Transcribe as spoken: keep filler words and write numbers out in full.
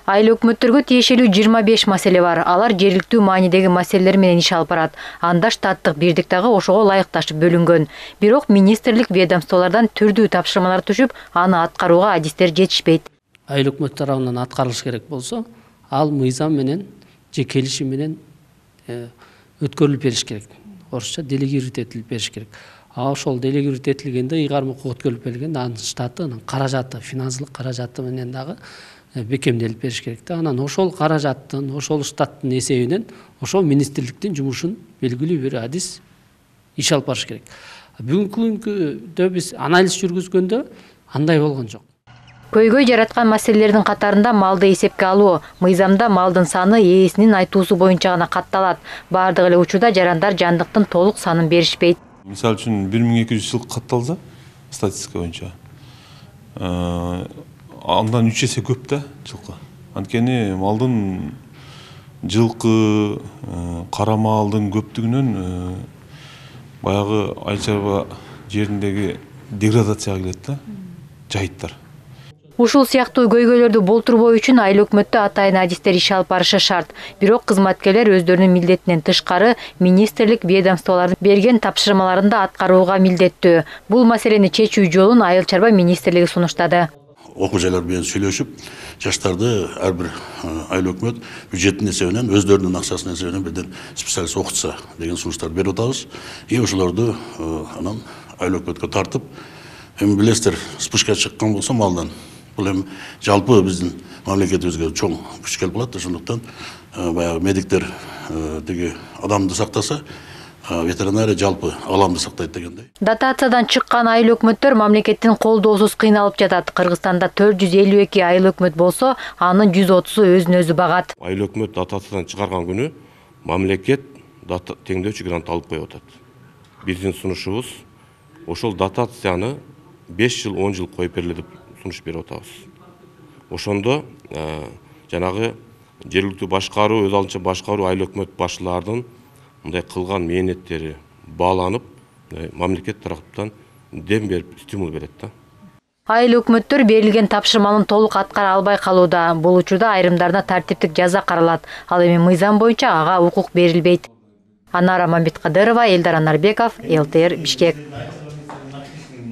Айыл өкмөттөргө тиешелүү жыйырма беш маселе бар. Алар жергиликтүү маанидеги маселелер менен иш алып барат. Анда штаттык биrdик дагы ошого ылайыкташып бөлүнгөн. Бирок министрлик ведомстволордон түрдүү тапшырмалар түшүп, аны аткарууга адистер жетишпейт. Айыл өкмөт тарабынан аткарылыш керек болсо, ал мыйзам менен же келишим менен өткөрүлүп бериш керек. Орусча делегировать этилип бериш керек. А ошол делегировать этилгенде ыйгарым укук өткөрүлүп берилгенде анын штаты, анын каражаты, финансылык каражаты менен дагы бекемделип бериш керек да. Анан ошол каражаттын, ошол штаттын эсебинен ошол министрликтин жумушун белгилүү бир адис иш алып барыш керек. Бүгүнкү күндө биз анализ жүргүзгөндө андай болгон жок. Көйгөй жараткан маселелердин катарында малды эсепке алуу. Мыйзамда малдын саны ээсинин айтуусу боюнча гана катталат. Бардык эле учурда жарандар жандыктын толук санын беришпейт. Мисалы үчүн бир миң эки жүз жылкы катталса, статистика боюнча андан үч эсе көп да жылкы. Анткени малдын жылкы, кара малдын көптүгүнөн баягы айыл чарба жериндеги деградацияга келет да, жайыттар. Ушул сыяктуу көйгөйлөрдү болтурбоо үчүн айыл өкмөттө атайын адистер иш алып барышы шарт. Бирок кызматкерлер өздөрүнүн милдетинен тышкары министрлик ведомстволордун берген тапшырмаларында аткарууга милдеттүү. Бул маселени чечүү жолун айыл чарба министрлиги сунуштады. Окуу жайлар менен сүйлөшүп, жаштарды ар бир айыл өкмөт бюджеттин эсебинен, өздөрүнүн акчасынын эсебинен бирден специалист окутса деген сунуштарды берип атабыз. И ошолорду анан айыл өкмөткө тартып, эми билесиздер, спышка чыккан болсо малдан. Бул эми жалпы биздин мамлекетибизге чоң күч келип калат. Ошондуктан баягы медиктер деги адамды сактаса, ветеринария жалпы аламды сактайт дегендей. Дотациядан чыккан айыл өкмөттөр мамлекеттин колдоосуз кыйналып жатат. Кыргызстанда төрт жүз элүү эки айыл өкмөт болсо, анын жүз отузу өзүн өзү багат. Айыл өкмөт дотациядан чыгарган күнү мамлекет теңдөөчү грант алып коюп атат. Биздин сунушубуз ошол дотацияны беш жыл, он жыл коюп бериле деп сунуш берип атабыз. Ошондо жанагы жергиликтүү башкаруу, өз алдынча башкаруу айыл өкмөт башчыларынын мындай кылган мээнеттери бааланып, мамлекет тараптан дем берип, стимул берет да. Айыл өкмөттөр берилген тапшырманын толук аткара албай калууда. Бул учурда айрымдарына тартиптик жаза каралат. Ал эми мыйзам боюнча ага укук берилбейт. Анара Мамбеткадырова, Элдар Анарбеков, эл тэ эр Бишкек.